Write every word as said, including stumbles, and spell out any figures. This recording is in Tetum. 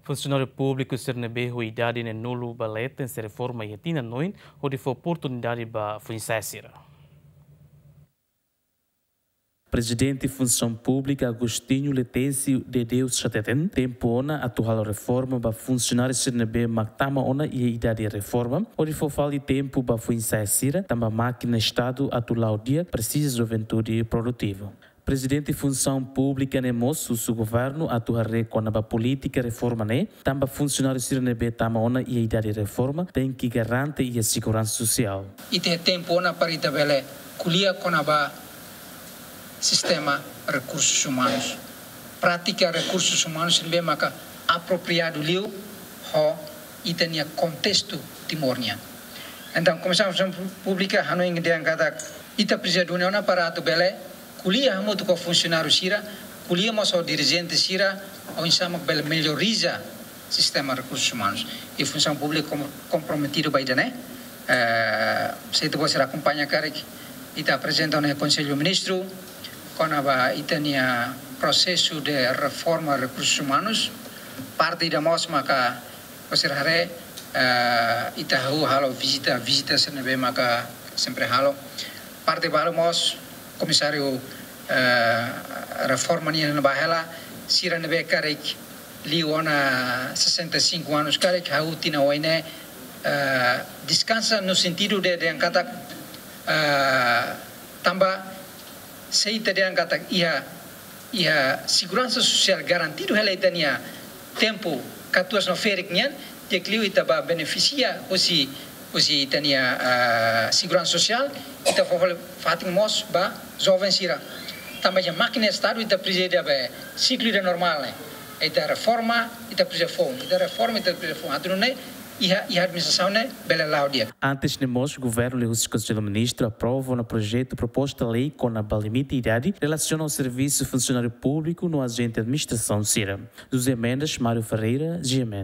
Funsionáriu públiku sira ne'ebé ho idade neenulu ba leten sei reforma iha tinan oin, hodi fó oportunidade ba foin-sa'e sira. Prezidente Funsaun Públika Agostinho Letesi de Deus hateten, tempu ona atu halo reforma ba funsionáriu sira ne'ebé mak tama ona iha idade reforma, hodi fó fali tempu ba foin-sa'e sira, tanba mákina Estadu atu la'o di'ak presiza juventude produtiva. Prezidente Funsaun Públika ne'e mós husu governu atu haree kona-ba polítika reforma ne'e, tanba funsionáriu sira ne'ebé tama ona iha idade reforma tenke garante iha seguransa sosiál. Ita iha tempu ona para ita bele ko'alia kona-ba sistema rekursus umanus. Prátika rekursus umanus ne'ebé maka apropriadu liu ho ita-nia kontestu Timor nian. Entaun, Komisaun Funsaun Públika hanoin dehan katak ita presiza duni ona para atu bele ko'alia hamutuk ho funsionáriu sira, ko'alia mós ho dirijente sira, oinsá mak bele melloriza sistema rekursus umanus. I Funsaun Públika kom-, komprometidu ba ida-ne'e. Eh, se ita-boot sira akompaña karik, ita aprezenta ona iha Konsellu Ministru kona-ba ita-nia prosesu de reforma rekursus umanus. Parte ida mós maka, boot sira haree, eh, ita hahú halo vizita, vizita sira ne'ebé maka sempre halo. Parte balu mós, komisáriu, eh, reforma nian ba hela, sira ne'ebé karik liu ona sessenta e cinco anos karik hahú tinan oin ne'e, eh, deskansa no sentidu de, dehan katak, eh, tanba se ita dehan katak iha, iha seguransa sosiál garantidu hela ita-nia tempu katuas no ferik nian, di'ak liu ita bá benefisia husi, husi ita-nia, ah, seguransa sosiál, ita fó fali fatin mós ba joven sira. Tanba iha mákina Estadu ita presiza ida be siklu ida normál ne'e. Ita reforma, ita presiza foun. Ita reforma, ita presiza foun. Atu nune'e iha, iha administrasaun ne'e bele la'o di'ak. Antes ne'e mós, governu liuhusi Konsellu Ministru aprova ona projetu proposta lei kona-ba limite idade relasiona ho servisu funsionáriu públiku no ajente administrasaun sira. José Mendes, Mário Ferreira, G M N.